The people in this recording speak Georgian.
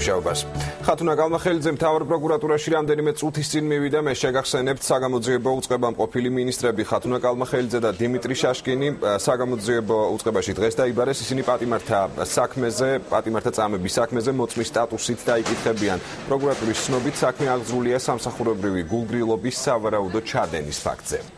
მუშაობას. ხათუნა კალმახელიძე მთავარ პროკურატურაში რამდენიმე წუთის წინ მივიდა, მე შეგახსენებთ, საგამოძიებო უწყებამ ყოფილი მინისტრები ხათუნა კალმახელიძე და დიმიტრი შაშკინი საგამოძიებო უწყებაში დღეს დაიბარეს. ისინი პატიმართა წამების საქმეზე მოწმის სტატუსით დაიკითხებიან. პროკურატურის ცნობით საქმე აღძრულია სამსახურებრივი გულგრილობის სავარაუდო ჩადენის ფაქტზე.